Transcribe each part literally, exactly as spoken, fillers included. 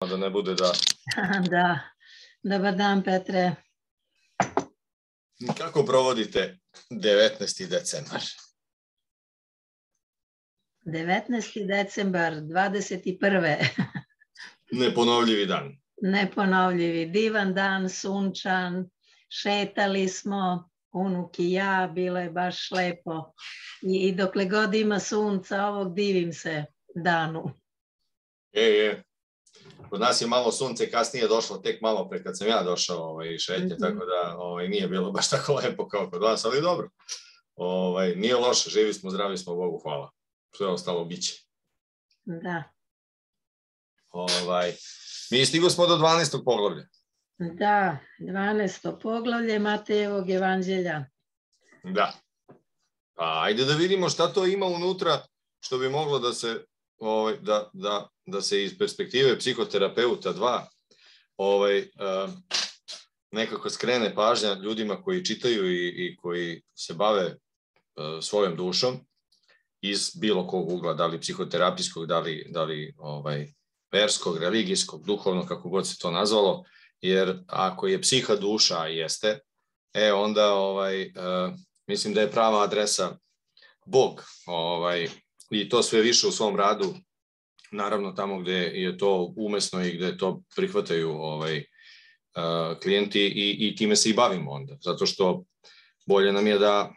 da ne bude da... Da, dobar dan Petre. Kako provodite devetnaesti decembar? devetnaesti decembar, dvadeset prve Neponovljivi dan. Neponovljivi, divan dan, sunčan, šetali smo, unuk i ja, bilo je baš lepo. I dokle god ima sunca, ovog divim se danu. Je, je. Kod nas je malo sunce kasnije došlo, tek malo pre kad sam ja došao ovaj, šetnje, mm-hmm. tako da ovaj, nije bilo baš tako lepo kao kod vas, ali dobro. Ovaj, nije loše, živi smo, zdravi smo, Bogu hvala. Sve ostalo biće. Da. Ovaj, mi stigli smo do dvanaestog poglavlja. Da, dvanaesto poglavlje Matejevog evanđelja. Da. Pa ajde da vidimo šta to ima unutra što bi moglo da se, ovaj, da, da, da se iz perspektive psihoterapeuta dva ovaj, uh, nekako skrene pažnja ljudima koji čitaju i, i koji se bave uh, svojom dušom iz bilo kog ugla, da li psihoterapijskog, da li, da li ovaj, verskog, religijskog, duhovnog, kako god se to nazvalo, jer ako je psiha duša, a jeste, e onda ovaj, uh, mislim da je prava adresa Bog, ovaj, i to sve više u svom radu, naravno tamo gde je to umesno i gde to prihvataju ovaj, uh, klijenti i, i time se i bavimo onda, zato što bolje nam je da,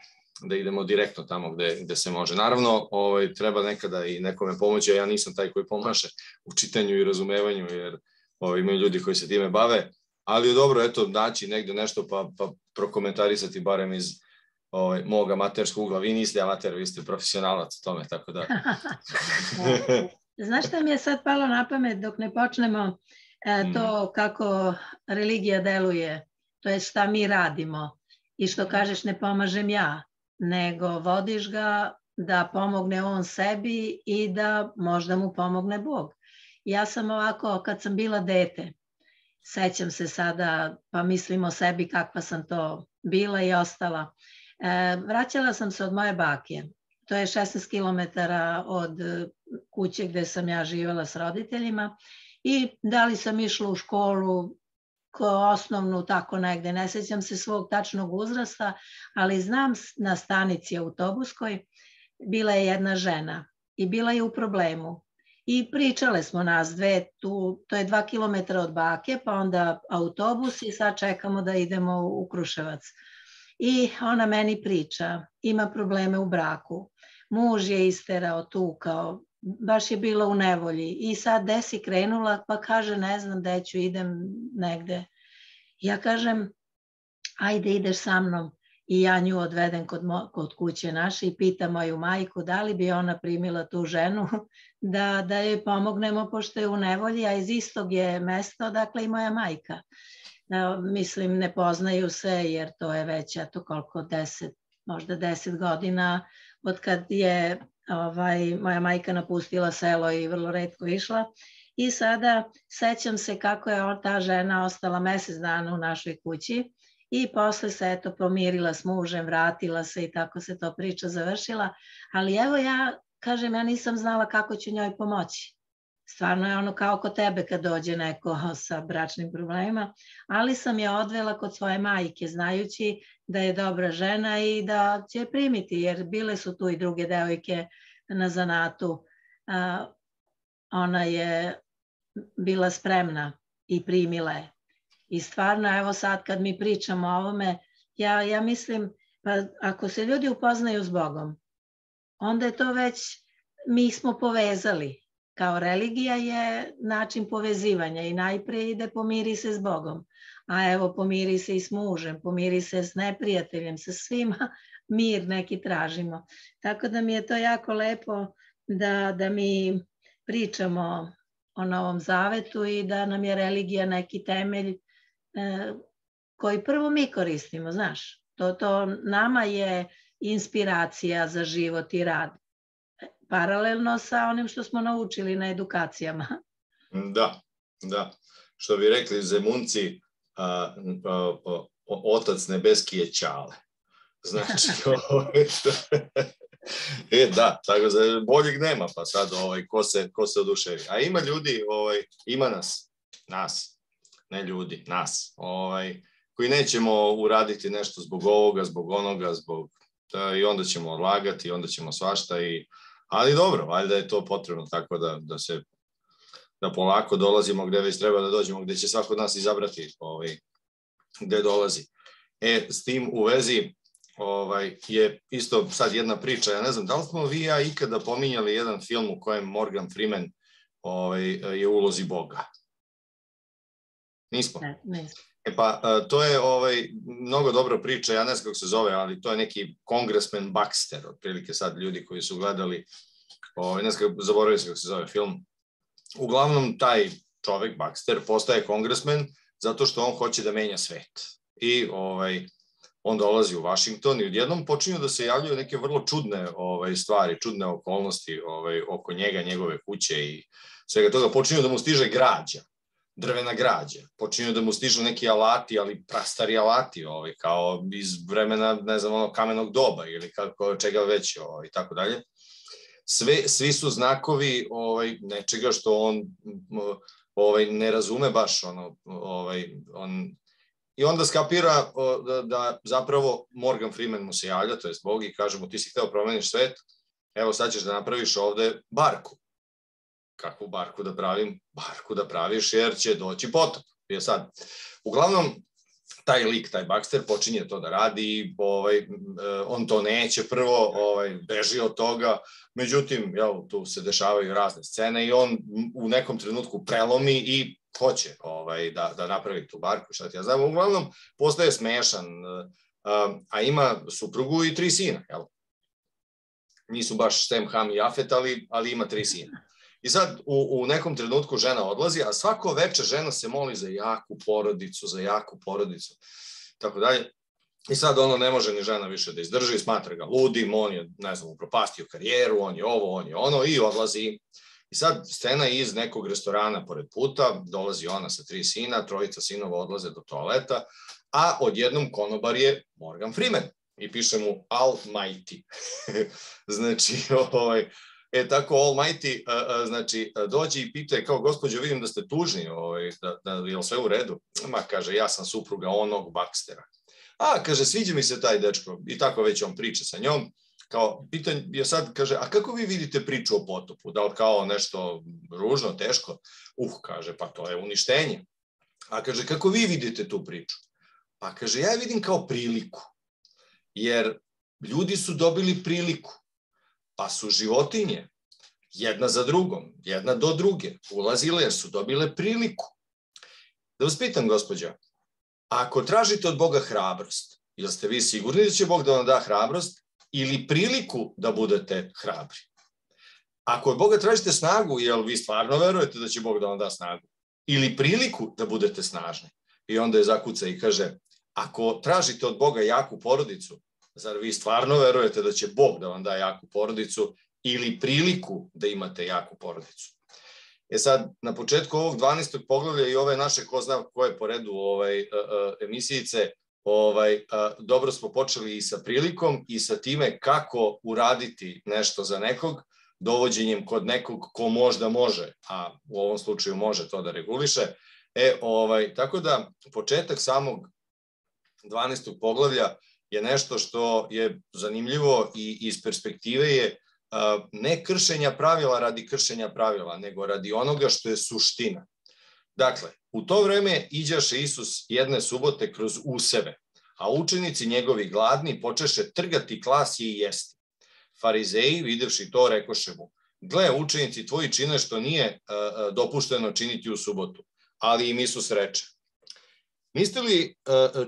da idemo direktno tamo gde, gde se može. Naravno, ovaj, treba nekada i nekome pomoći, a ja nisam taj koji pomaže u čitanju i razumevanju, jer ovaj, imaju ljudi koji se time bave, ali je dobro, eto, naći negde nešto pa, pa prokomentarisati barem iz ovaj, mog amaterskog ugla. Vi niste amater, vi ste profesionalac u tome, tako da... Znaš šta mi je sad palo na pamet dok ne počnemo e, to kako religija deluje, to je šta mi radimo i što kažeš ne pomažem ja, nego vodiš ga da pomogne on sebi i da možda mu pomogne Bog. Ja sam ovako, kad sam bila dete, sećam se sada, pa mislim o sebi kakva sam to bila i ostala. E, vraćala sam se od moje bake. To je šesnaest kilometara od kuće gde sam ja živjela s roditeljima i da li sam išla u školu ko osnovnu, tako negde, ne sećam se svog tačnog uzrasta, ali znam na stanici autobuskoj bila je jedna žena i bila je u problemu. I pričale smo nas dve, tu, to je dva kilometra od bake, pa onda autobus i sad čekamo da idemo u Kruševac. I ona meni priča, ima probleme u braku, muž je isterao, tukao, baš je bila u nevolji i sad gde si krenula, pa kaže ne znam gde ću, idem negde. Ja kažem, ajde ideš sa mnom i ja nju odvedem kod, mo, kod kuće naše i pitam moju majku da li bi ona primila tu ženu da, da joj pomognemo pošto je u nevolji, a iz istog je mesta odakle i moja majka. Mislim, ne poznaju se jer to je već, eto koliko, deset, možda deset godina od kad je ovaj, moja majka napustila selo i vrlo retko išla. I sada sećam se kako je ta žena ostala mesec dana u našoj kući i posle se eto pomirila s mužem, vratila se i tako se to priča završila. Ali evo ja, kažem, ja nisam znala kako ću njoj pomoći. Stvarno je ono kao kod tebe kad dođe neko sa bračnim problemima, ali sam je odvela kod svoje majke, znajući da je dobra žena i da će je primiti, jer bile su tu i druge devojke na zanatu. Ona je bila spremna i primila je. I stvarno, evo sad kad mi pričamo o ovome, ja, ja mislim, pa ako se ljudi upoznaju s Bogom, onda je to već, mi smo povezali. Kao religija je način povezivanja i najprije ide pomiri se s Bogom, a evo pomiri se i s mužem, pomiri se s neprijateljem, sa svima mir neki tražimo. Tako da mi je to jako lepo da, da mi pričamo o Novom Zavetu i da nam je religija neki temelj e, koji prvo mi koristimo, znaš. To, to nama je inspiracija za život i rad. Paralelno sa onim što smo naučili na edukacijama. Da, da. Što bi rekli Zemunci, a, a, a, otac nebeski je Ćale. Znači, ovaj, e, da, tako da boljeg nema, pa sad ovaj, ko, se, ko se oduševi. A ima ljudi, ovaj, ima nas, nas, ne ljudi, nas, ovaj, koji nećemo uraditi nešto zbog ovoga, zbog onoga, zbog, da, i onda ćemo odlagati, onda ćemo svašta, i, ali dobro, valjda je to potrebno tako da, da se, da polako dolazimo gde već treba da dođemo, gde će svako od nas izabrati ovaj, gde dolazi. E, s tim u vezi ovaj, je isto sad jedna priča, ja ne znam, da li smo vi i ja ikada pominjali jedan film u kojem Morgan Freeman ovaj, je u ulozi Boga? Nismo? Ne, nismo. E pa, to je ovaj, mnogo dobra priča, ja ne znam kako se zove, ali to je neki Congressman Baxter, otprilike sad ljudi koji su gledali, ovaj, ne znam kako, zaboravio se kako se zove film. Uglavnom, taj čovek, Baxter, postaje kongresmen zato što on hoće da menja svet. I ovaj, on dolazi u Washington i odjednom počinju da se javljaju neke vrlo čudne ovaj, stvari, čudne okolnosti ovaj, oko njega, njegove kuće i svega toga. Počinju da mu stiže građa, drvena građa. Počinju da mu stižu neki alati, ali prastari alati, ovaj, kao iz vremena, ne znam, ono, kamenog doba ili kako, čega već, ovaj, i tako dalje. Sve, svi su znakovi ovaj, nečega što on ovaj, ne razume baš. Ono, ovaj, on, I onda skapira da, da zapravo Morgan Freeman mu se javlja, to je Bog, i kaže mu ti si hteo promeniš svet, evo sad ćeš da napraviš ovde barku. Kakvu barku da pravim? Barku da praviš jer će doći potop. I sad, uglavnom, taj lik, taj Baxter, počinje to da radi, ovaj, on to neće prvo, ovaj, beži od toga, međutim, jel, tu se dešavaju razne scene i on u nekom trenutku prelomi i hoće ovaj, da, da napravi tu barku, šta ti ja znam, uglavnom postaje smešan, a ima suprugu i tri sina, jel? Nisu baš Sem, Ham i Jafet, ali, ali ima tri sina. I sad u, u nekom trenutku žena odlazi, a svako večer žena se moli za jaku porodicu, za jaku porodicu, tako dalje. I sad ono ne može ni žena više da izdrži, smatra ga ludim, on je, ne znam, upropastio karijeru, on je ovo, on je ono, i odlazi. I sad scena iz nekog restorana pored puta, dolazi ona sa tri sina, trojica sinova odlaze do toaleta, a odjednom konobar je Morgan Freeman i piše mu Almighty. Znači, ovaj, e tako Almighty, znači, dođe i pita je kao, gospođo, vidim da ste tužni, ovaj, da, da je li sve u redu? Ma, kaže, ja sam supruga onog Baxtera. A, kaže, sviđa mi se taj dečko, i tako već on priča sa njom. Kao, pitanje je sad, kaže, a kako vi vidite priču o potopu? Da li kao nešto ružno, teško? Uh, kaže, pa to je uništenje. A kaže, kako vi vidite tu priču? Pa kaže, ja vidim kao priliku. Jer ljudi su dobili priliku. Pa su životinje jedna za drugom, jedna do druge, ulazile jer su dobile priliku. Da vas pitam, gospođa, ako tražite od Boga hrabrost, jel ste vi sigurni da će Bog da vam da hrabrost ili priliku da budete hrabri? Ako od Boga tražite snagu, jel vi stvarno verujete da će Bog da vam da snagu? Ili priliku da budete snažni? I onda je zakuca i kaže, ako tražite od Boga jaku porodicu, zar vi stvarno verujete da će Bog da vam da jaku porodicu ili priliku da imate jaku porodicu? E sad, na početku ovog dvanaestog poglavlja i ove naše ko zna koje po redu ovaj, emisijice, ovaj, dobro smo počeli i sa prilikom i sa time kako uraditi nešto za nekog, dovođenjem kod nekog ko možda može, a u ovom slučaju može to da reguliše. E, ovaj, tako da početak samog dvanaestog poglavlja je nešto što je zanimljivo i iz perspektive je ne kršenja pravila radi kršenja pravila, nego radi onoga što je suština. Dakle, u to vreme iđaše Isus jedne subote kroz useve, a učenici njegovi gladni počeše trgati klasje i jesti. Farizeji, videvši to, rekoše mu, gle, učenici tvoji čine što nije dopušteno činiti u subotu, ali im Isus reče, niste li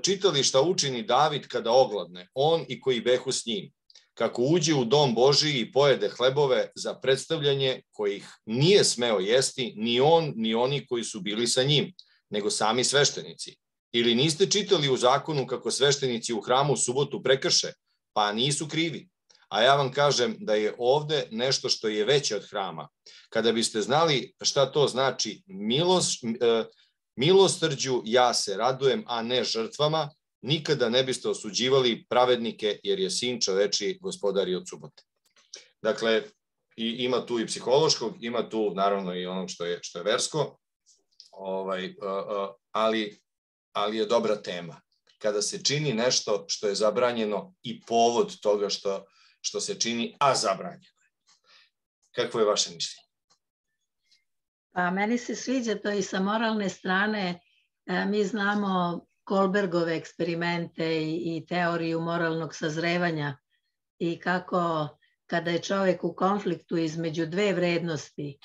čitali šta učini David kada ogladne, on i koji behu s njim? Kako uđe u dom Božiji i pojede hlebove za predstavljanje kojih nije smeo jesti ni on, ni oni koji su bili sa njim, nego sami sveštenici. Ili niste čitali u zakonu kako sveštenici u hramu u subotu prekrše, pa nisu krivi? A ja vam kažem da je ovde nešto što je veće od hrama. Kada biste znali šta to znači milost, milosrđu, ja se radujem, a ne žrtvama, nikada ne biste osuđivali pravednike, jer je sin čovečiji gospodar i od subote. Dakle, i, ima tu i psihološkog, ima tu naravno i onog što je, što je versko. ovaj, ali, ali je dobra tema. Kada se čini nešto što je zabranjeno i povod toga što, što se čini, a zabranjeno je. Kakvo je vaše mišljenje? Pa meni se sviđa to i sa moralne strane. Mi znamo Kohlbergove eksperimente i, i teoriju moralnog sazrevanja i kako kada je čovjek u konfliktu između dve vrednosti,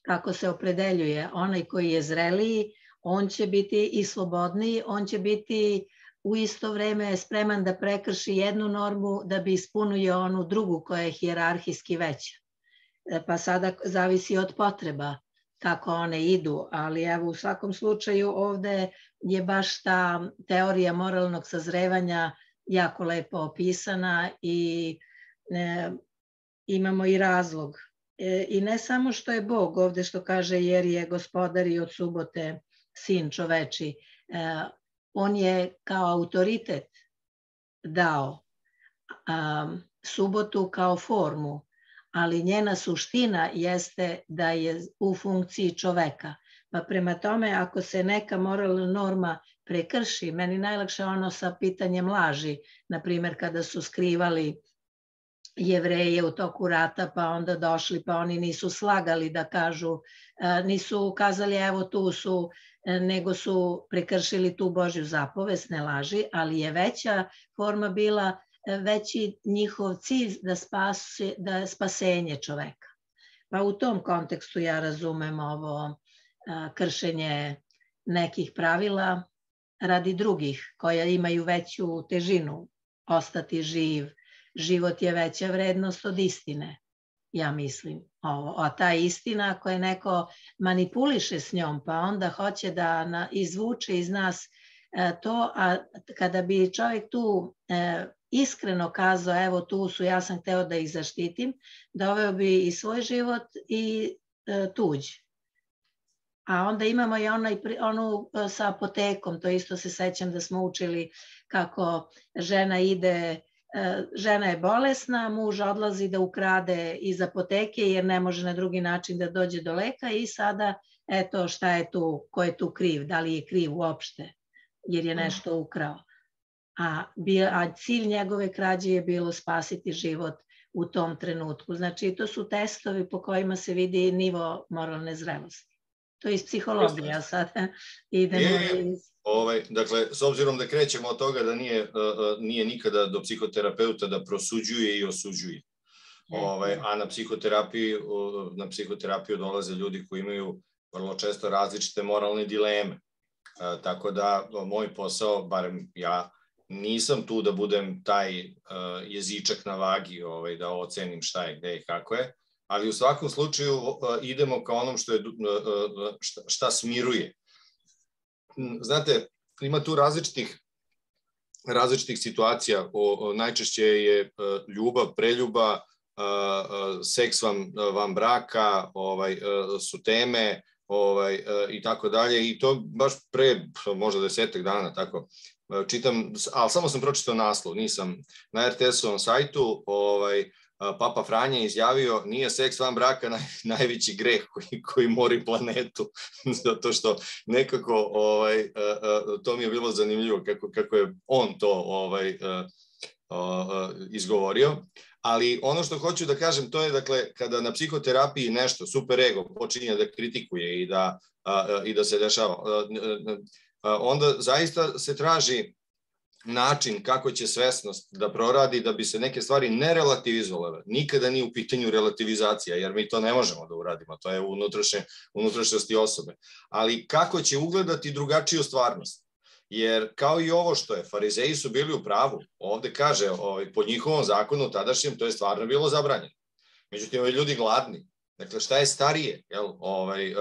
kako se opredeljuje. Onaj koji je zreliji, on će biti i slobodniji, on će biti u isto vreme spreman da prekrši jednu normu da bi ispunio onu drugu koja je hijerarhijski veća. Pa sada zavisi od potreba kako one idu, ali evo u svakom slučaju ovde je baš ta teorija moralnog sazrevanja jako lepo opisana i e, imamo i razlog. E, I ne samo što je Bog ovde što kaže jer je gospodar i od subote sin čoveči, e, on je kao autoritet dao a, subotu kao formu, ali njena suština jeste da je u funkciji čoveka. Pa prema tome, ako se neka moralna norma prekrši, meni najlakše ono sa pitanjem laži, na primjer kada su skrivali Jevreje u toku rata, pa onda došli, pa oni nisu slagali da kažu, nisu kazali evo tu su, nego su prekršili tu Božju zapovest, ne laži, ali je veća forma bila veći njihov cilj da, spase, da je spasenje čoveka. Pa u tom kontekstu ja razumem ovo a, kršenje nekih pravila radi drugih koja imaju veću težinu. Ostati živ, život je veća vrednost od istine, ja mislim. Ovo. A ta istina, ako je neko manipuliše s njom, pa onda hoće da na, izvuče iz nas e, to, a kada bi čovjek tu e, iskreno kazao, evo tu su, ja sam hteo da ih zaštitim, doveo bi i svoj život i e, tuđ. A onda imamo i onaj, onu sa apotekom, to isto se sećam da smo učili kako žena ide, e, žena je bolesna, muž odlazi da ukrade iz apoteke jer ne može na drugi način da dođe do leka i sada, eto šta je tu, ko je tu kriv, da li je kriv uopšte, jer je nešto ukrao. A, a cilj njegove krađe je bilo spasiti život u tom trenutku. Znači, to su testovi po kojima se vidi nivo moralne zrelosti. To je iz psihologije, a sada idemo iz... Ovaj, dakle, s obzirom da krećemo od toga da nije, uh, nije nikada do psihoterapeuta da prosuđuje i osuđuje. Ovaj, a na psihoterapiju, na psihoterapiju dolaze ljudi koji imaju vrlo često različite moralne dileme. Uh, tako da moj posao, barem ja, nisam tu da budem taj uh, jezičak na vagi, ovaj, da ocenim šta je, gde i kako je, ali u svakom slučaju uh, idemo ka onom što je, uh, šta, šta smiruje. Znate, ima tu različitih, različitih situacija. O, o, najčešće je uh, ljubav, preljuba, uh, uh, seks vam, vam braka, ovaj, uh, su teme, ovaj, uh, i tako dalje. I to baš pre, možda desetak dana, tako, čitam, ali samo sam pročitao naslov, nisam na er te esovom sajtu, ovaj, Papa Franja je izjavio nije seks van braka naj, najveći greh koji, koji mori planetu, zato što nekako ovaj, to mi je bilo zanimljivo kako, kako je on to ovaj, izgovorio, ali ono što hoću da kažem to je dakle kada na psihoterapiji nešto super ego počinje da kritikuje i da, i da se dešava, onda zaista se traži način kako će svesnost da proradi da bi se neke stvari ne relativizovale. Nikada nije u pitanju relativizacija, jer mi to ne možemo da uradimo, to je unutrašnje, unutrašnjosti osobe. Ali kako će ugledati drugačiju stvarnost? Jer kao i ovo što je, farizeji su bili u pravu. Ovde kaže, ovaj, po njihovom zakonu tadašnjem to je stvarno bilo zabranjeno. Međutim, ovi ljudi gladni. Dakle, šta je starije? Jel? Ovaj,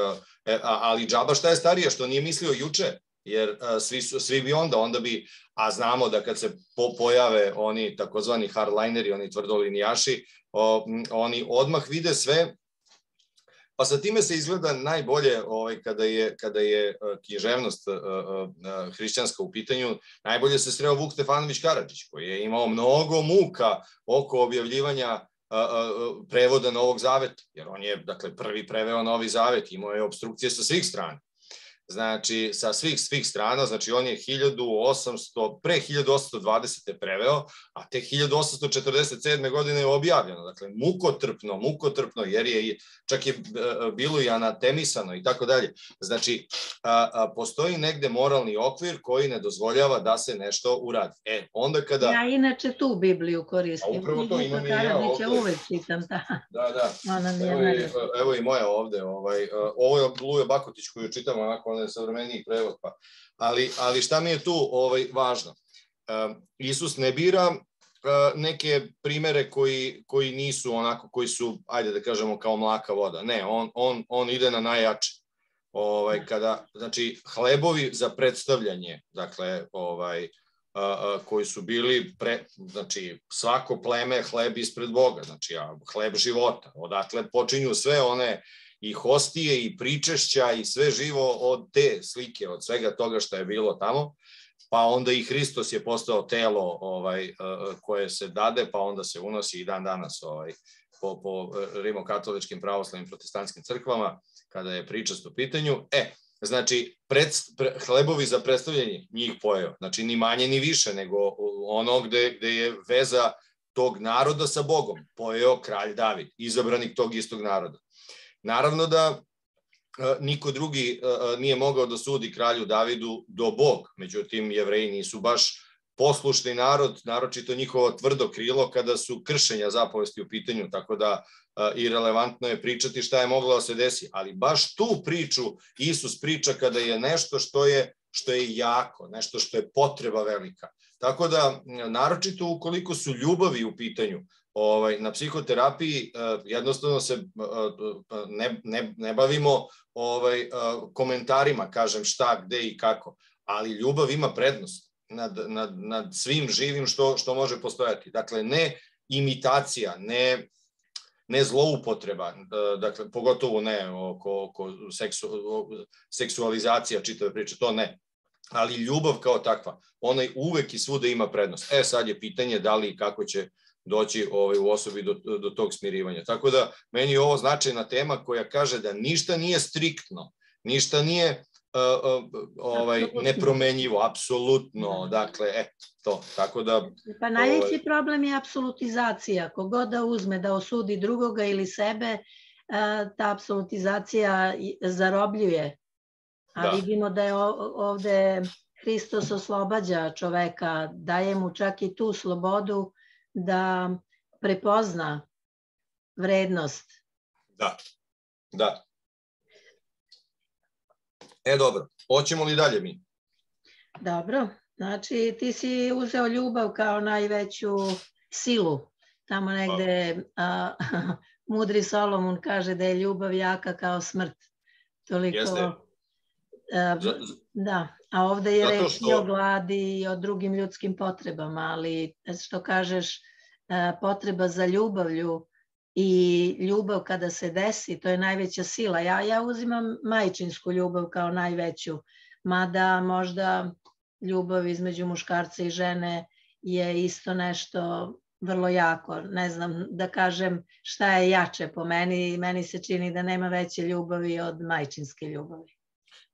ali džaba šta je starije? Što nije mislio juče? Jer svi, su, svi bi onda, onda bi, a znamo da kad se po, pojave oni takozvani hardlineri, oni tvrdolinijaši, o, oni odmah vide sve, pa sa time se izgleda najbolje ovaj, kada je, kada je književnost uh, uh, hrišćanska u pitanju, najbolje se sreo Vuk Stefanović Karadžić, koji je imao mnogo muka oko objavljivanja uh, uh, prevoda Novog zaveta, jer on je dakle, prvi preveo Novi zavet, imao je obstrukcije sa svih strana. znači sa svih svih strana, znači on je hiljadu osamsto, pre hiljadu osamsto dvadesete preveo, a te hiljadu osamsto četrdeset sedme godine je objavljeno. Dakle, mukotrpno, mukotrpno, jer je čak je bilo i anatemisano i tako dalje. Znači, a, a, postoji negde moralni okvir koji ne dozvoljava da se nešto uradi. E, onda kada... Ja inače tu Bibliju koristim. A upravo to imam i ja ovde. Uvek čitam, da. Da, da. Evo i, evo i moja ovde. Ovaj, ovo je Luje Bakotić koju čitam, onako on je savremeniji prevod. Pa. Ali, ali šta mi je tu ovaj, važno? Uh, Isus ne bira uh, neke primere koji, koji nisu onako, koji su, ajde da kažemo, kao mlaka voda. Ne, on, on, on ide na najjače. Ovaj, kada, znači, hlebovi za predstavljanje, dakle, ovaj, koji su bili, pre, znači svako pleme hleb ispred Boga, znači hleb života, odatle počinju sve one i hostije i pričešća i sve živo od te slike, od svega toga što je bilo tamo, pa onda i Hristos je postao telo ovaj, koje se dade, pa onda se unosi i dan danas ovaj, po, po rimokatoličkim, pravoslavnim, protestantskim crkvama, kada je pričast u pitanju. E, znači, pred, pre, hlebovi za predstavljanje njih pojeo. Znači, ni manje ni više, nego ono gde, gde je veza tog naroda sa Bogom. Pojeo kralj David, izabranik tog istog naroda. Naravno da a, niko drugi a, nije mogao da sudi kralju Davidu do Bog. Međutim, Jevreji nisu baš poslušni narod, naročito njihovo tvrdo krilo kada su kršenja zapovesti u pitanju, tako da i relevantno je pričati šta je moglo da se desi, ali baš tu priču Isus priča kada je nešto što je, što je jako, nešto što je potreba velika. Tako da, naročito ukoliko su ljubavi u pitanju, ovaj, na psihoterapiji jednostavno se ne, ne, ne bavimo ovaj, komentarima, kažem šta, gde i kako, ali ljubav ima prednost nad, nad, nad svim živim što, što može postojati. Dakle, ne imitacija, ne ne zloupotreba, dakle, pogotovo ne oko, oko seksu, seksualizacija čitave priče, to ne. Ali ljubav kao takva, ona uvek i svuda ima prednost. E, sad je pitanje da li i kako će doći ovaj, u osobi do, do tog smirivanja. Tako da, meni je ovo značajna tema koja kaže da ništa nije striktno, ništa nije uh, uh, ovaj, nepromenjivo, apsolutno, dakle, eto, to, tako da... Pa najveći ovaj... problem je apsolutizacija. Kogod da uzme da osudi drugoga ili sebe, ta apsolutizacija zarobljuje. A da. Vidimo da je ovde Hristos oslobađa čoveka, daje mu čak i tu slobodu da prepozna vrednost. Da, da. E, dobro, hoćemo li dalje mi? Dobro. Znači, ti si uzeo ljubav kao najveću silu. Tamo negde a, mudri Solomon kaže da je ljubav jaka kao smrt. Toliko... Jeste. A, da, a ovde je reč što... i o gladi i o drugim ljudskim potrebama, ali što kažeš, a, potreba za ljubavlju i ljubav kada se desi, to je najveća sila. Ja, ja uzimam majčinsku ljubav kao najveću, mada možda... ljubav između muškarca i žene je isto nešto vrlo jako. Ne znam da kažem šta je jače po meni. Meni se čini da nema veće ljubavi od majčinske ljubavi.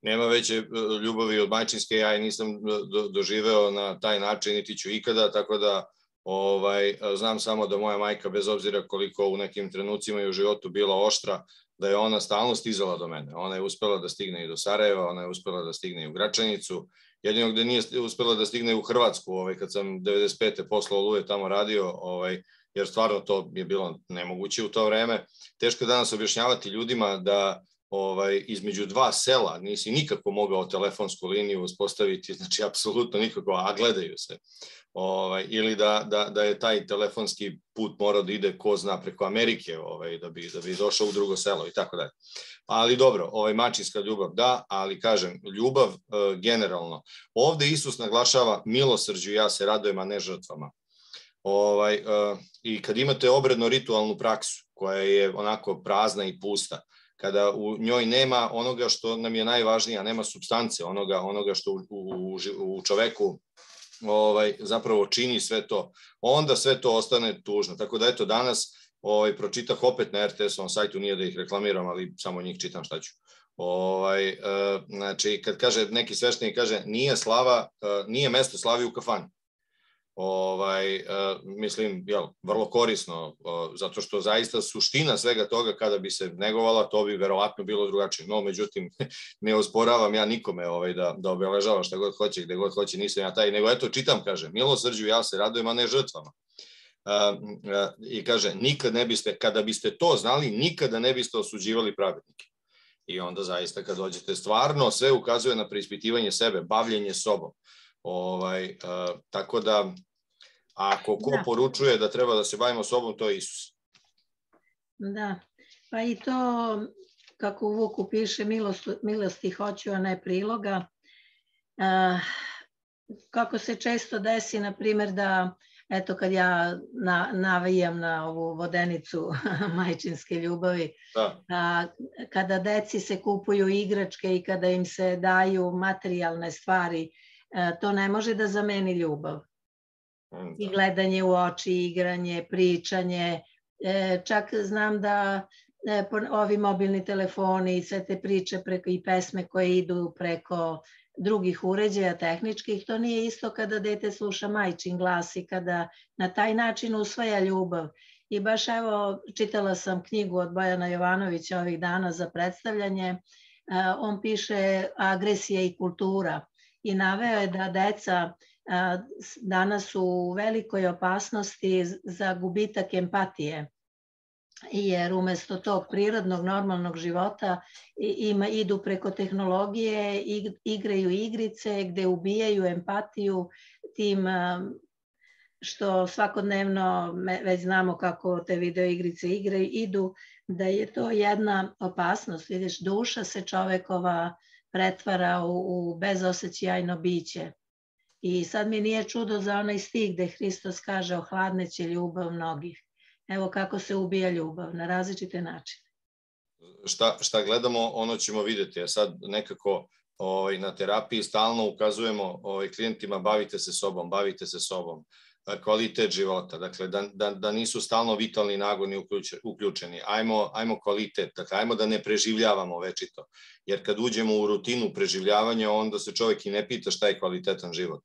Nema veće ljubavi od majčinske, ja i nisam do, doživeo na taj način, niti ću ikada, tako da ovaj, znam samo da moja majka, bez obzira koliko u nekim trenucima i u životu bila oštra, da je ona stalno stizala do mene. Ona je uspela da stigne i do Sarajeva, ona je uspela da stigne i u Gračanicu. Jedino gde nije uspela da stigne u Hrvatsku, ovaj, kad sam devedeset pete poslao Oluje tamo radio, ovaj, jer stvarno to je bilo nemoguće u to vreme. Teško je danas objašnjavati ljudima da ovaj, između dva sela nisi nikako mogao telefonsku liniju uspostaviti, znači apsolutno nikako, a gledaju se. Ovaj, ili da, da, da je taj telefonski put morao da ide ko zna preko Amerike, ovaj, da, bi, da bi došao u drugo selo i tako dalje. Ali dobro, ovaj, mačinska ljubav da, ali kažem, ljubav e, generalno. Ovde Isus naglašava milosrđu, ja se radujem, a ne žrtvama. Ovaj, e, I kad imate obredno-ritualnu praksu, koja je onako prazna i pusta, kada u njoj nema onoga što nam je najvažnije, a nema supstance, onoga, onoga što u, u, u čoveku ovaj, zapravo čini sve to, onda sve to ostane tužno. Tako da eto danas ovaj, pročitah opet na er te esovom sajtu, nije da ih reklamiram, ali samo njih čitam šta ću. Ovaj, znači, kad kaže neki sveštenik, kaže, nije slava, nije mesto slavi u kafani. Ovaj, mislim, jel, vrlo korisno, zato što zaista suština svega toga kada bi se negovala, to bi verovatno bilo drugačije. No, međutim, ne osporavam ja nikome ovaj, da, da obeležava šta god hoće, gde god hoće, nisam ja taj, nego eto, čitam, kaže, milosrđu ja se radujem, a ne žrtvama. I kaže, nikad ne biste, kada biste to znali, nikada ne biste osuđivali pravednike. I onda zaista kad dođete, stvarno sve ukazuje na preispitivanje sebe, bavljenje sobom. Ovaj, uh, tako da, ako ko da. poručuje da treba da se bavimo sobom, to je Isus. Da, pa i to, kako u Vuku piše, milost, milosti hoću, a ne priloga. Uh, kako se često desi, na primjer, da eto, kad ja na, navijam na ovu vodenicu majčinske ljubavi, da. A, kada deci se kupuju igračke i kada im se daju materijalne stvari, a, to ne može da zameni ljubav. Da. I gledanje u oči, igranje, pričanje. E, čak znam da e, ovi mobilni telefoni i sve te priče preko, i pesme koje idu preko drugih uređaja tehničkih, to nije isto kada dete sluša majčin glas i kada na taj način usvaja ljubav. I baš evo, čitala sam knjigu od Bojana Jovanovića ovih dana za predstavljanje, on piše Agresija i kultura i naveo je da deca danas su u velikoj opasnosti za gubitak empatije. Jer umesto tog prirodnog, normalnog života ima, idu preko tehnologije, igraju igrice gde ubijaju empatiju tim što svakodnevno već znamo kako te video igrice igraju, idu, da je to jedna opasnost. Vidiš, duša se čovekova pretvara u, u bezosećajno biće. I sad mi nije čudo za onaj stih gde Hristos kaže ohladneće ljubav mnogih. Evo kako se ubija ljubav, na različite načine. Šta, šta gledamo, ono ćemo vidjeti. A sad nekako ovaj, na terapiji stalno ukazujemo ovaj, klijentima bavite se sobom, bavite se sobom. Kvalitet života, dakle da, da, da nisu stalno vitalni nagoni uključeni. Ajmo, ajmo kvalitet, dakle ajmo da ne preživljavamo večito. Jer kad uđemo u rutinu preživljavanja, onda se čovjek i ne pita šta je kvalitetan život.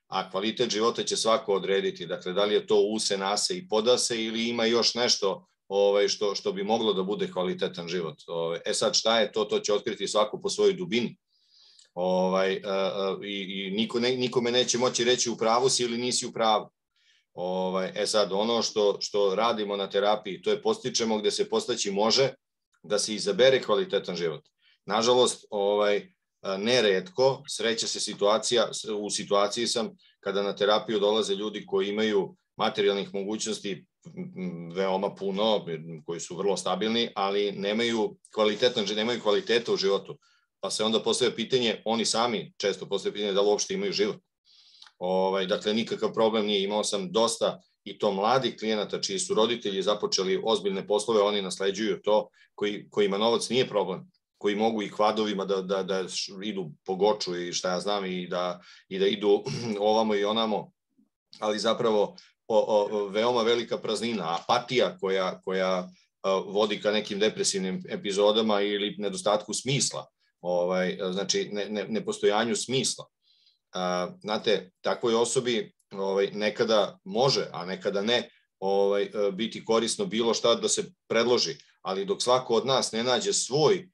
A kvalitet života će svako odrediti, dakle da li je to use, nase i podase ili ima još nešto ovaj, što, što bi moglo da bude kvalitetan život. Ovaj, e sad šta je to, to će otkriti svako po svojoj dubini. Ovaj, a, a, i, i niko ne, nikome neće moći reći u pravu si ili nisi u pravu. Ovaj, e sad, ono što, što radimo na terapiji, to je postičemo gde se postaći može da se izabere kvalitetan život. Nažalost, ovaj, neretko sreće se situacija, u situaciji sam kada na terapiju dolaze ljudi koji imaju materijalnih mogućnosti veoma puno, koji su vrlo stabilni, ali nemaju kvalitetan, nemaju kvaliteta u životu. Pa se onda postavlja pitanje, oni sami često postavljaju pitanje da li uopšte imaju život. Ovaj, dakle, nikakav problem nije. Imao sam dosta i to mladih klijenata čiji su roditelji započeli ozbiljne poslove, oni nasleđuju to, koji, kojima novac nije problem, koji mogu i kvadovima da, da, da idu po Goču i šta ja znam i da, i da idu ovamo i onamo, ali zapravo o, o, veoma velika praznina, apatija koja, koja o, vodi ka nekim depresivnim epizodama ili nedostatku smisla, ovaj, znači ne, ne, nepostojanju smisla. A, znate, takvoj osobi ovaj, nekada može, a nekada ne, ovaj, biti korisno bilo šta da se predloži, ali dok svako od nas ne nađe svoj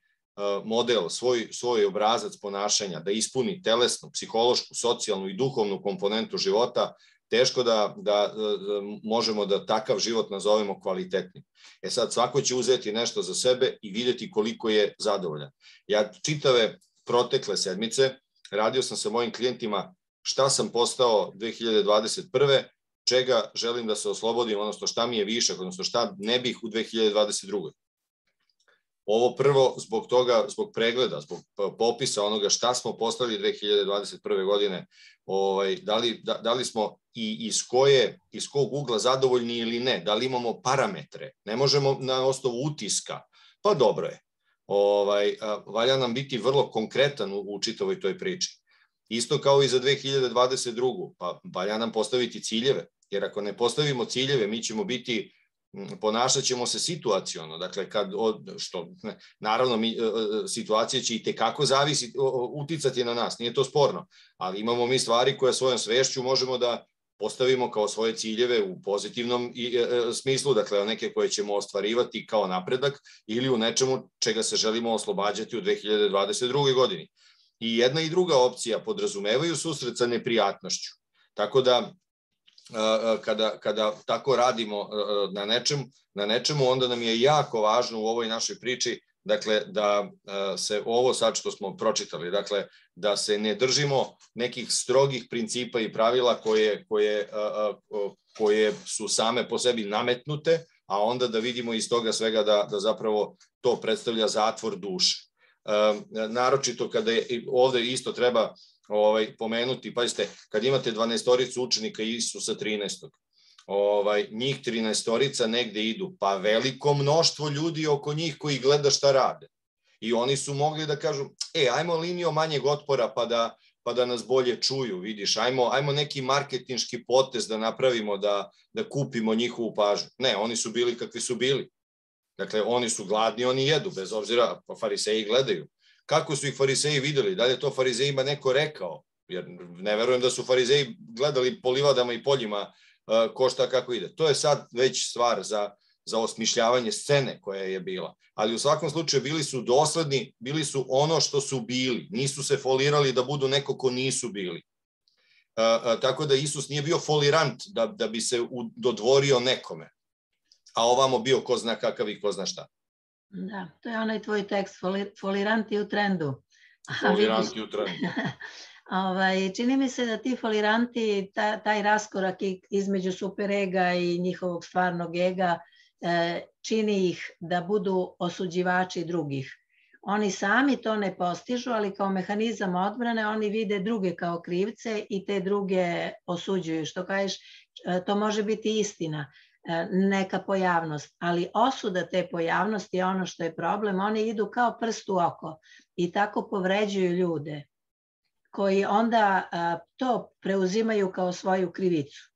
model, svoj, svoj obrazac ponašanja, da ispuni telesnu, psihološku, socijalnu i duhovnu komponentu života, teško da, da, da možemo da takav život nazovemo kvalitetnim. E sad, svako će uzeti nešto za sebe i vidjeti koliko je zadovoljan. Ja čitave protekle sedmice radio sam sa mojim klijentima šta sam postao dve hiljade dvadeset prve, čega želim da se oslobodim, odnosno šta mi je višak, odnosno šta ne bih u dve hiljade dvadeset drugoj. Ovo prvo zbog toga, zbog pregleda, zbog popisa onoga šta smo postali dve hiljade dvadeset prve godine, ovaj, da, li, da, da li smo i iz, koje, iz kog ugla zadovoljni ili ne, da li imamo parametre, ne možemo na osnovu utiska, pa dobro je. Ovaj, valja nam biti vrlo konkretan u, u čitavoj toj priči. Isto kao i za dve hiljade dvadeset drugu, pa valja nam postaviti ciljeve, jer ako ne postavimo ciljeve, mi ćemo biti ponašat ćemo se situaciono, dakle, kad, što, naravno, mi, situacija će i tekako zavisiti, uticati na nas, nije to sporno, ali imamo mi stvari koje svojom svešću možemo da postavimo kao svoje ciljeve u pozitivnom smislu, dakle, neke koje ćemo ostvarivati kao napredak ili u nečemu čega se želimo oslobađati u dve hiljade dvadeset drugoj godini. I jedna i druga opcija podrazumevaju susret sa neprijatnošću, tako da Kada, kada tako radimo na nečemu, na nečemu, onda nam je jako važno u ovoj našoj priči, dakle, da se ovo sad što smo pročitali, dakle, da se ne držimo nekih strogih principa i pravila koje, koje, koje su same po sebi nametnute, a onda da vidimo iz toga svega da, da zapravo to predstavlja zatvor duše. Naročito kada je, ovde isto treba Ovaj, pomenuti, pazite, kad imate dvanaestoricu učenika Isusa trinaestog, ovaj, njih trinaestorica negde idu, pa veliko mnoštvo ljudi oko njih koji gleda šta rade. I oni su mogli da kažu, e, ajmo linijom manjeg otpora pa da, pa da nas bolje čuju, vidiš, ajmo, ajmo neki marketinški potez da napravimo, da, da kupimo njihovu pažnju. Ne, oni su bili kakvi su bili. Dakle, oni su gladni, oni jedu, bez obzira, pa fariseji gledaju. Kako su ih fariseji videli? Da li je to farizejima neko rekao? Jer ne verujem da su farizeji gledali po livadama i poljima ko šta kako ide. To je sad već stvar za, za osmišljavanje scene koja je bila. Ali u svakom slučaju bili su dosledni, bili su ono što su bili. Nisu se folirali da budu neko ko nisu bili. Tako da Isus nije bio folirant da, da bi se dodvorio nekome. A ovamo bio ko zna kakav i ko zna šta. Da, to je onaj tvoj tekst, foliranti u trendu. Foliranti u trendu. Ovaj, čini mi se da ti foliranti, ta, taj raskorak između superega i njihovog stvarnog ega e, čini ih da budu osuđivači drugih. Oni sami to ne postižu, ali kao mehanizam odbrane oni vide druge kao krivce i te druge osuđuju. Što kažeš, to može biti istina, neka pojavnost, ali osuda te pojavnosti je ono što je problem. Oni idu kao prst u oko i tako povređuju ljude koji onda a, to preuzimaju kao svoju krivicu.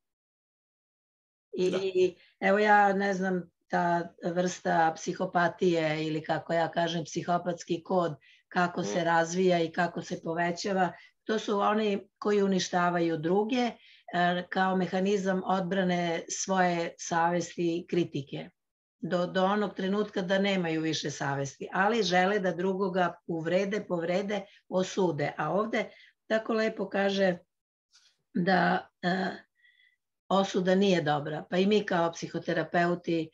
I, i evo ja ne znam, ta vrsta psihopatije ili kako ja kažem psihopatski kod, kako se razvija i kako se povećava, to su oni koji uništavaju druge kao mehanizam odbrane svoje savesti i kritike. Do, do onog trenutka da nemaju više savesti, ali žele da drugoga uvrede, povrede, osude. A ovde tako lepo kaže da e, osuda nije dobra. Pa i mi kao psihoterapeuti e,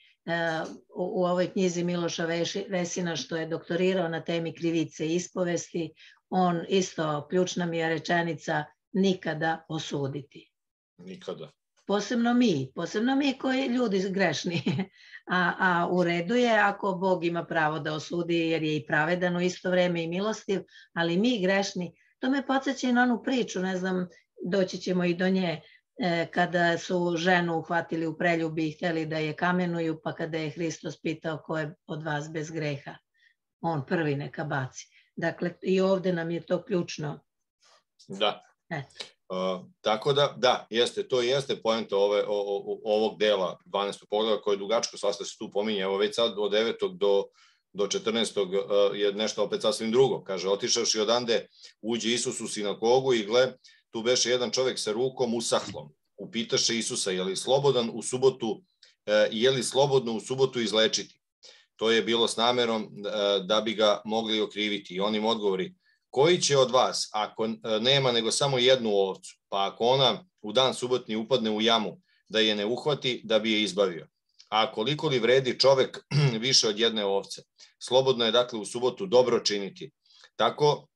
u, u ovoj knjizi Miloša Vesina, što je doktorirao na temi krivice i ispovesti, on isto, ključna mi je rečenica, nikada osuditi. Nikada. Posebno mi, posebno mi koji ljudi grešni. A, a u redu je ako Bog ima pravo da osudi jer je i pravedan u isto vreme i milostiv, ali mi grešni. To me podsjeća i na onu priču, ne znam, doći ćemo i do nje, e, kada su ženu uhvatili u preljubi i htjeli da je kamenuju, pa kada je Hristos pitao ko je od vas bez greha, on prvi neka baci. Dakle, i ovde nam je to ključno. Da. E. Uh, tako da, da, jeste, to jeste poenta ove, o, o, ovog dela dvanaestog pogleda koje je dugačko, svašta se tu pominje, evo već sad od devetog do, do četrnaestog uh, je nešto opet sasvim drugo, kaže, otišavši odande, uđe Isus u sinagogu i gle, tu beše jedan čovek sa rukom usahlom, upitaše Isusa, je li slobodan u subotu, uh, je li slobodno u subotu izlečiti? To je bilo s namerom uh, da bi ga mogli okriviti i on im odgovori, koji će od vas, ako nema nego samo jednu ovcu, pa ako ona u dan subotni upadne u jamu, da je ne uhvati, da bi je izbavio? A koliko li vredi čovek više od jedne ovce? Slobodno je dakle u subotu dobro činiti. Tako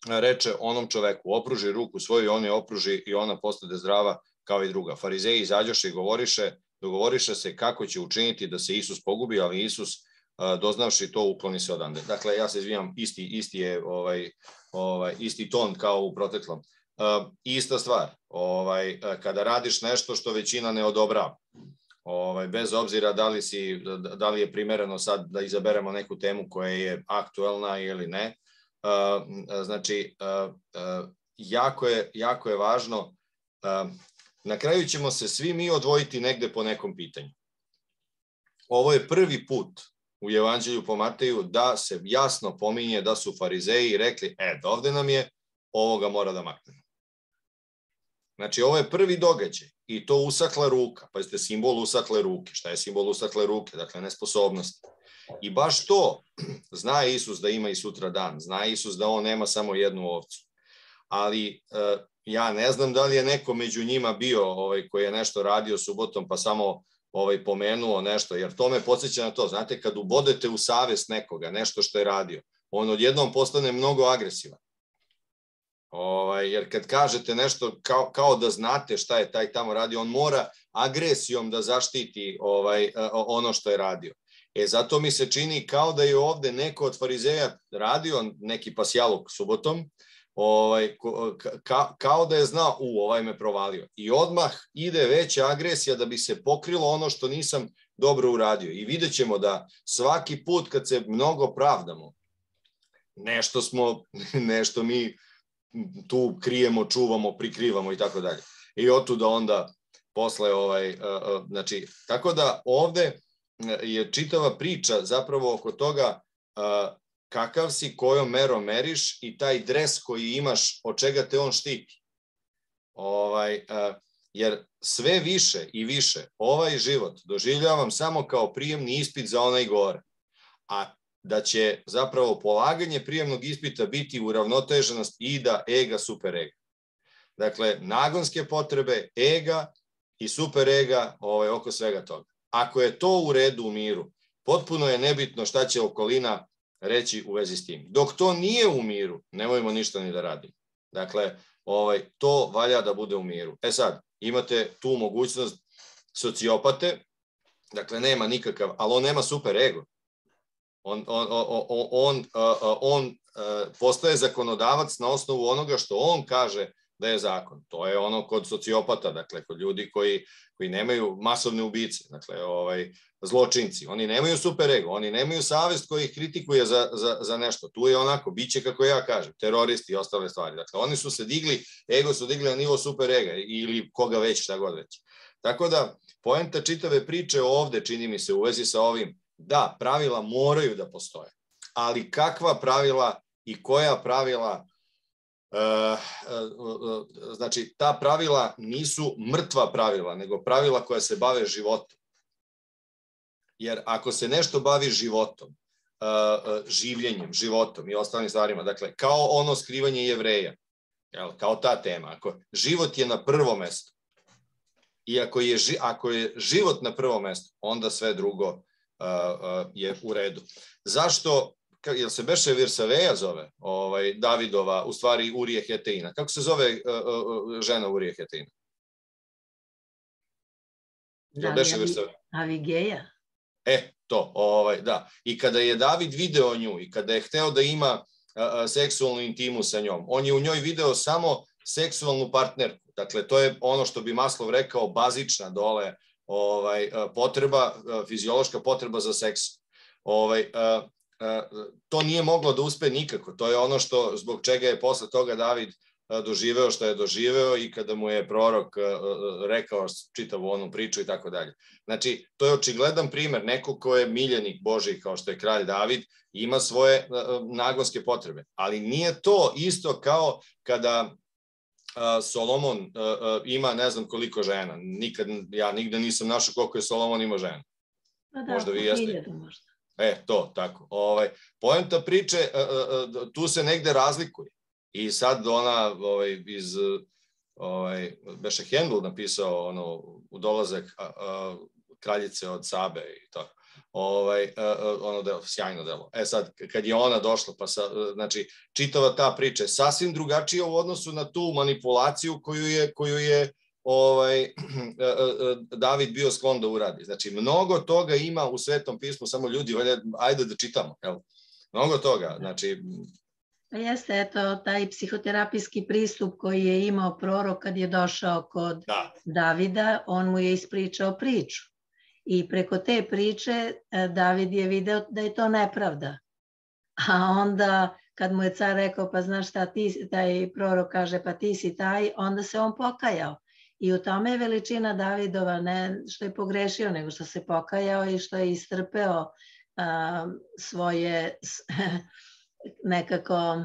reče onom čoveku, opruži ruku svoju, on je opruži i ona postade zdrava kao i druga. Farizeji izađoše i govoriše, dogovoriše se kako će učiniti da se Isus pogubi, ali Isus doznavši to ukloni se odande. Dakle, ja se izvinjam, isti, isti je ovaj, ovaj, isti ton kao u proteklom. Uh, ista stvar, ovaj, kada radiš nešto što većina ne odobrava, ovaj, bez obzira da li, si, da li je primereno sad da izaberemo neku temu koja je aktuelna ili ne, uh, znači, uh, uh, jako, je, jako je važno, uh, na kraju ćemo se svi mi odvojiti negde po nekom pitanju. ovo je prvi put u Evanđelju po Mateju da se jasno pominje da su farizeji rekli, e, dovde nam je, ovoga mora da maknemo. Znači, ovo je prvi događaj i to usakla ruka. Pazite, simbol usakle ruke. Šta je simbol usakle ruke? Dakle, nesposobnost. I baš to zna Isus da ima i sutra dan. Zna Isus da on nema samo jednu ovcu. Ali uh, ja ne znam da li je neko među njima bio ovaj, koji je nešto radio subotom pa samo ovaj, pomenuo nešto, jer to me podsjeća na to. Znate, kad ubodete u savest nekoga, nešto što je radio, on odjednom postane mnogo agresivan. Ovaj, jer kad kažete nešto kao, kao da znate šta je taj tamo radio, on mora agresijom da zaštiti ovaj, ono što je radio. E, zato mi se čini kao da je ovde neko od farizeja radio neki pasjaluk subotom, ovaj, ka, kao da je znao, u, ovaj me provalio. I odmah ide veća agresija da bi se pokrilo ono što nisam dobro uradio. I vidjet ćemo da svaki put kad se mnogo pravdamo, nešto smo, nešto mi tu krijemo, čuvamo, prikrivamo i tako dalje. I otuda onda posle ovaj, znači, tako da ovde je čitava priča zapravo oko toga kakav si, kojom merom meriš i taj dres koji imaš, od čega te on štiti. Ovaj, jer sve više i više ovaj život doživljavam samo kao prijemni ispit za onaj gore. A da će zapravo polaganje prijemnog ispita biti uravnoteženost ida, ega, super ega. Dakle, nagonske potrebe, ega i super ega ovaj, oko svega toga. Ako je to u redu u miru, potpuno je nebitno šta će okolina reći u vezi s tim. Dok to nije u miru, nemojmo ništa ni da radimo. Dakle, ovaj, to valja da bude u miru. E sad, imate tu mogućnost sociopate, dakle, nema nikakav, ali on nema super ego. On, on, on, on, on, on postaje zakonodavac na osnovu onoga što on kaže da je zakon. To je ono kod sociopata, dakle, kod ljudi koji, koji nemaju masovne ubice, dakle, ovaj, zločinci. Oni nemaju super ego, oni nemaju savest koji ih kritikuje za, za, za nešto. Tu je onako, bit će kako ja kažem, teroristi i ostale stvari. Dakle, oni su se digli, ego su digli na nivo super ega ili koga već, šta god već. Tako da, poenta čitave priče ovde, čini mi se, u vezi sa ovim, da, pravila moraju da postoje, ali kakva pravila i koja pravila, e, e, znači ta pravila nisu mrtva pravila, nego pravila koja se bave životom. Jer ako se nešto bavi životom, e, življenjem, životom i ostalim stvarima, dakle, kao ono skrivanje Jevreja, jel, kao ta tema, ako život je na prvom mestu i ako je, ako je život na prvom mestu, onda sve drugo Uh, uh, je u redu. Zašto, jel se beše Virsaveja zove, ovaj, Davidova, u stvari Urije Heteina? Kako se zove uh, uh, žena Urije Heteina? Jel beše Virsaveja? Avigeja. E, to, ovaj, da. I kada je David video nju i kada je hteo da ima uh, seksualnu intimu sa njom, on je u njoj video samo seksualnu partnerku. Dakle, to je ono što bi Maslov rekao bazična dole ovaj, potreba, fiziološka potreba za seks. Ovaj, to nije moglo da uspe nikako. To je ono što, zbog čega je posle toga David doživeo što je doživeo i kada mu je prorok rekao čitavu onu priču i tako dalje. Znači, to je očigledan primer. Neko ko je miljenik Božji kao što je kralj David ima svoje nagonske potrebe. Ali nije to isto kao kada Solomon ima ne znam koliko žena. Nikad, ja nigde nisam našao koliko je Solomon imao žena. Da, možda vi jeste. Možda. E, to, tako. Ovaj, poenta priče, tu se negde razlikuje. I sad ona ovaj, iz, ovaj, beše Hendel napisao ono, u dolazak a, a, kraljice od Sabe i tako. Ovaj, ono delo, sjajno delo. E sad, kad je ona došla, pa sa, znači, čitava ta priča je sasvim drugačija u odnosu na tu manipulaciju koju je, koju je ovaj, David bio sklon da uradi. Znači, mnogo toga ima u Svetom pismu, samo ljudi, ajde da čitamo. Jel? Mnogo toga, znači... Jeste, eto, taj psihoterapijski pristup koji je imao prorok kad je došao kod da. Davida, on mu je ispričao priču. I preko te priče David je video da je to nepravda. A onda kad mu je car rekao, pa znaš šta, ti, taj prorok kaže, pa ti si taj, onda se on pokajao. I u tome je veličina Davidova, ne što je pogrešio, nego što se pokajao i što je istrpeo a, svoje nekako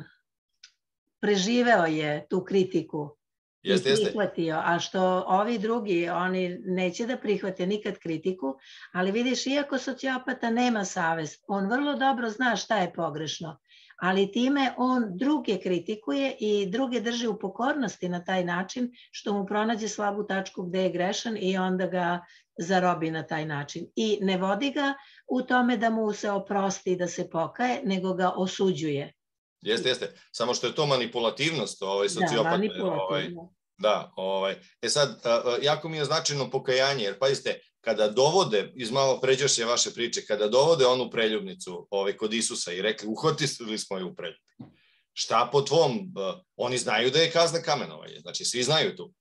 preživeo je tu kritiku i Jeste, jeste. prihvatio, a što ovi drugi, oni neće da prihvate nikad kritiku, ali vidiš, iako sociopata nema savest, on vrlo dobro zna šta je pogrešno, ali time on druge kritikuje i druge drži u pokornosti na taj način što mu pronađe slabu tačku gde je grešan i onda ga zarobi na taj način. I ne vodi ga u tome da mu se oprosti i da se pokaje, nego ga osuđuje. Jeste, jeste. Samo što je to manipulativnost, ovaj, sociopata. Da, manipulativno. Ovaj, da, ovaj. E sad, jako mi je značajno pokajanje, jer pazite, kada dovode, iz malo pređašnje vaše priče, kada dovode onu preljubnicu ovaj, kod Isusa i rekli, uhvatili smo je u preljubi. Šta po tvom? Oni znaju da je kazna kamenovanje, znači svi znaju tu.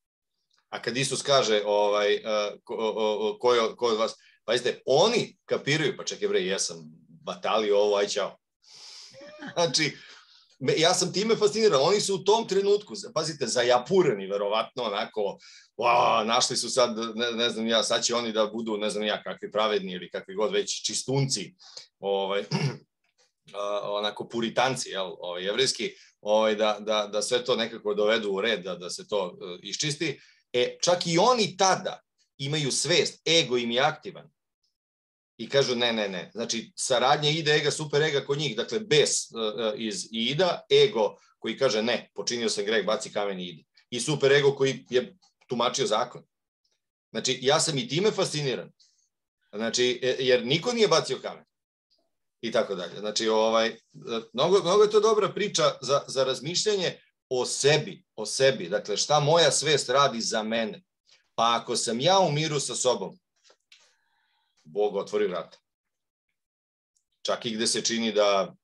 A kad Isus kaže, ovaj, ko, ko, je, ko je od vas, pazite, oni kapiraju, pa čekaj bre, jesam batalio ovo, aj čao. Znači, ja sam time fasciniran, oni su u tom trenutku, pazite, zajapureni, verovatno, onako, wow, našli su sad, ne, ne znam ja, sad će oni da budu, ne znam ja, kakvi pravedni ili kakvi god već čistunci, ovaj, onako puritanci, jel, ovaj, jevrijski, ovaj, da, da, da sve to nekako dovedu u red, da, da se to uh, iščisti. E, čak i oni tada imaju svest, ego im je aktivan. I kažu ne, ne, ne. Znači, saradnja ide, ega, super ega kod njih, dakle, bes uh, iz ida, ego koji kaže ne, počinio sam greh, baci kamen i idi. I super ego koji je tumačio zakon. Znači, ja sam i time fasciniran. Znači, jer niko nije bacio kamen. I tako dalje. Znači, ovaj, mnogo, mnogo je to dobra priča za, za razmišljanje o sebi, o sebi. Dakle, šta moja svest radi za mene. Pa ako sam ja u miru sa sobom, Bog otvori vrata. Čak i gde se čini da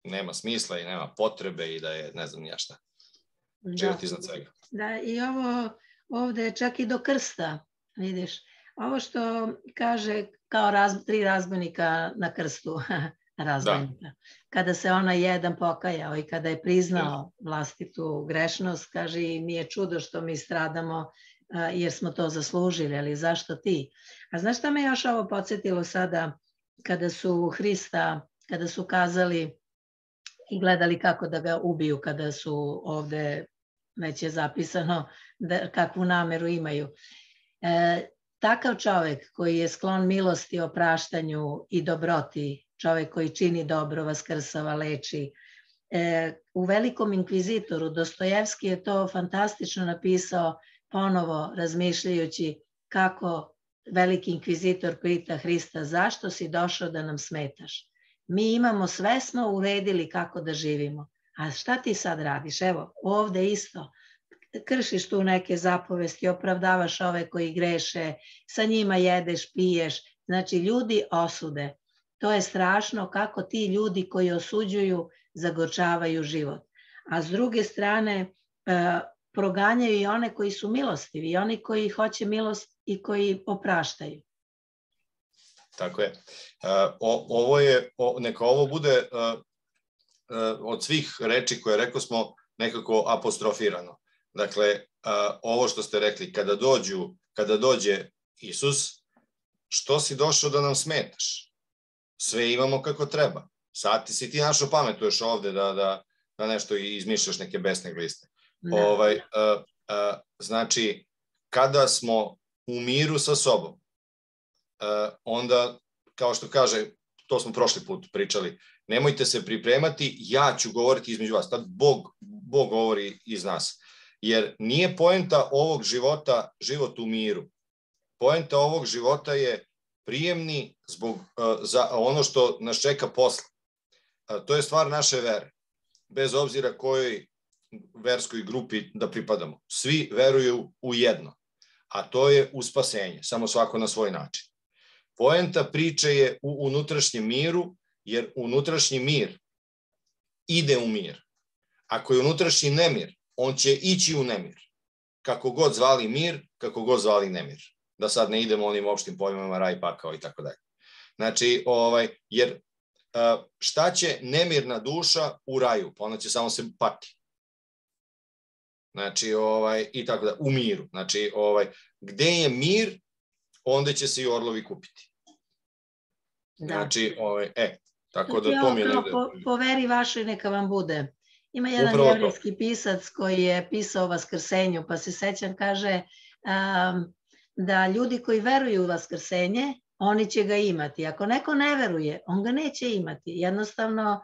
nema smisla i nema potrebe i da je ne znam ja šta. Živjeti iznad svega. Da, i ovo ovde je čak i do krsta, vidiš. Ovo što kaže kao raz, tri razbojnika na krstu, razbojnika. Da. Kada se ona jedan pokajao i kada je priznao vlastitu grešnost, kaže i nije čudo što mi stradamo jer smo to zaslužili, ali zašto ti? A znaš šta me još ovo podsjetilo sada kada su Hrista, kada su kazali i gledali kako da ga ubiju, kada su ovde, već je zapisano da, kakvu nameru imaju. E, takav čovek koji je sklon milosti, opraštanju i dobroti, čovek koji čini dobro, vaskrsava, leči, e, u Velikom inkvizitoru Dostojevski je to fantastično napisao, ponovo razmišljajući kako veliki inkvizitor pita Hrista zašto si došao da nam smetaš. Mi imamo svesno uredili kako da živimo. A šta ti sad radiš? Evo, ovde isto. Kršiš tu neke zapovesti, opravdavaš ove koji greše, sa njima jedeš, piješ. Znači, ljudi osude. To je strašno kako ti ljudi koji osuđuju zagorčavaju život. A s druge strane, proganjaju i one koji su milostivi i oni koji hoće milost i koji opraštaju. Tako je. O, ovo je, o, neka ovo bude uh, uh, od svih reči koje rekao smo nekako apostrofirano. Dakle, uh, ovo što ste rekli, kada dođu, kada dođe Isus, što si došao da nam smetaš? Sve imamo kako treba. Sad ti si ti našo pametuješ ovde da, da, da nešto izmišljaš neke besne gliste. Da. Ovaj, uh, uh, znači, kada smo u miru sa sobom, uh, onda, kao što kaže, to smo prošli put pričali, nemojte se pripremati, ja ću govoriti između vas. Tad Bog, Bog govori iz nas. Jer nije poenta ovog života život u miru. Poenta ovog života je prijemni zbog, uh, za ono što nas čeka posle. Uh, to je stvar naše vere. Bez obzira kojoj verskoj grupi da pripadamo. Svi veruju u jedno, a to je u spasenje, samo svako na svoj način. Poenta priče je u unutrašnjem miru, jer unutrašnji mir ide u mir. Ako je unutrašnji nemir, on će ići u nemir. Kako god zvali mir, kako god zvali nemir. Da sad ne idemo onim opštim pojmama raj, pakao i tako dalje. Znači, ovaj, jer šta će nemirna duša u raju? Pa ona će samo se pati. Znači, ovaj, i tako da, u miru. Znači, ovaj, gde je mir, onda će se i orlovi kupiti. Da. Znači, ovaj, e, tako da to mi je negde... Po, po veri vašoj neka vam bude. Ima jedan Upravo jevrijski pisac koji je pisao o Vaskrsenju, pa se sećam, kaže um, da ljudi koji veruju u Vaskrsenje, oni će ga imati. Ako neko ne veruje, on ga neće imati. Jednostavno,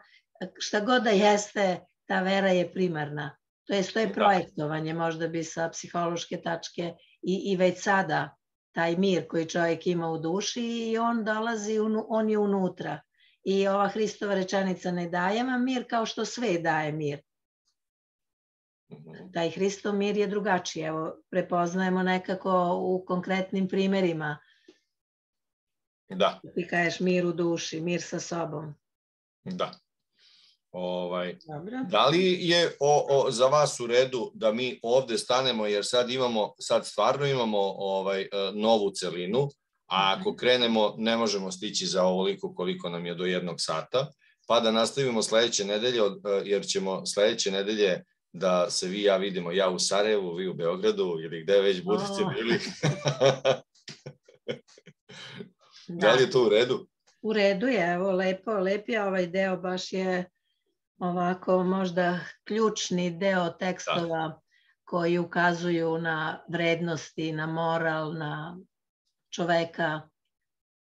šta god da jeste, ta vera je primarna. To je, to je projektovanje, možda bi sa psihološke tačke i, i već sada taj mir koji čovjek ima u duši i on dolazi, on je unutra. I ova Hristova rečenica ne daje vam mir kao što sve daje mir. Taj Hristov mir je drugačiji. Evo, prepoznajemo nekako u konkretnim primerima. Da. Ti kažeš mir u duši, mir sa sobom. Da. Ovaj, da li je o, o, za vas u redu da mi ovde stanemo, jer sad imamo, sad stvarno imamo ovaj, novu celinu, a ako krenemo ne možemo stići za ovoliko koliko nam je do jednog sata, pa da nastavimo sledeće nedelje, jer ćemo sledeće nedelje da se vi i ja vidimo, ja u Sarajevu, vi u Beogradu ili gde već budete bili. Da li je to u redu? U redu je, evo, lepo, lep je ovaj deo, baš je ovako možda ključni deo tekstova koji ukazuju na vrednosti, na moral, na čoveka.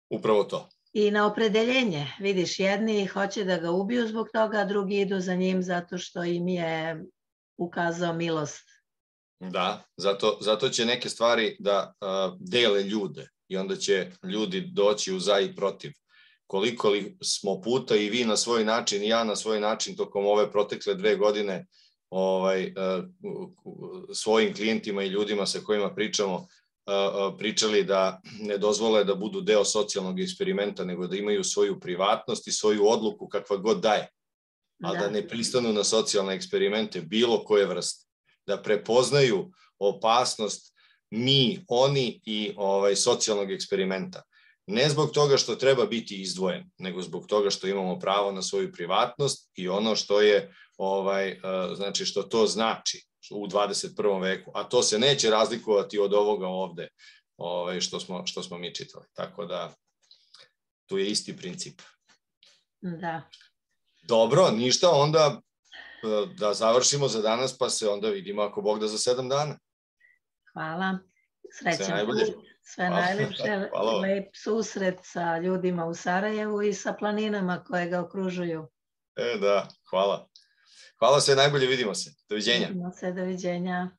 Upravo to. I na opredeljenje. Vidiš, jedni hoće da ga ubiju zbog toga, a drugi idu za njim zato što im je ukazao milost. Da, zato, zato će neke stvari da uh, dele ljude i onda će ljudi doći u za i protiv. Koliko li smo puta i vi na svoj način i ja na svoj način tokom ove protekle dve godine ovaj, svojim klijentima i ljudima sa kojima pričamo pričali da ne dozvole da budu deo socijalnog eksperimenta, nego da imaju svoju privatnost i svoju odluku kakva god daje, ali da ne pristanu na socijalne eksperimente bilo koje vrste, da prepoznaju opasnost mi, oni i ovaj, socijalnog eksperimenta. Ne zbog toga što treba biti izdvojen, nego zbog toga što imamo pravo na svoju privatnost i ono što je, ovaj, znači što to znači u dvadeset prvom veku, a to se neće razlikovati od ovoga ovde ovaj, što, smo, što smo mi čitali. Tako da tu je isti princip. Da. Dobro, ništa, onda da završimo za danas, pa se onda vidimo ako Bog da za sedam dana. Hvala. Srećan. Sve najbolje. Sve najlepše, lep susret sa ljudima u Sarajevu i sa planinama koje ga okružuju. E, da, hvala. Hvala, sve najbolje, vidimo se. Doviđenja. Vidimo se, doviđenja.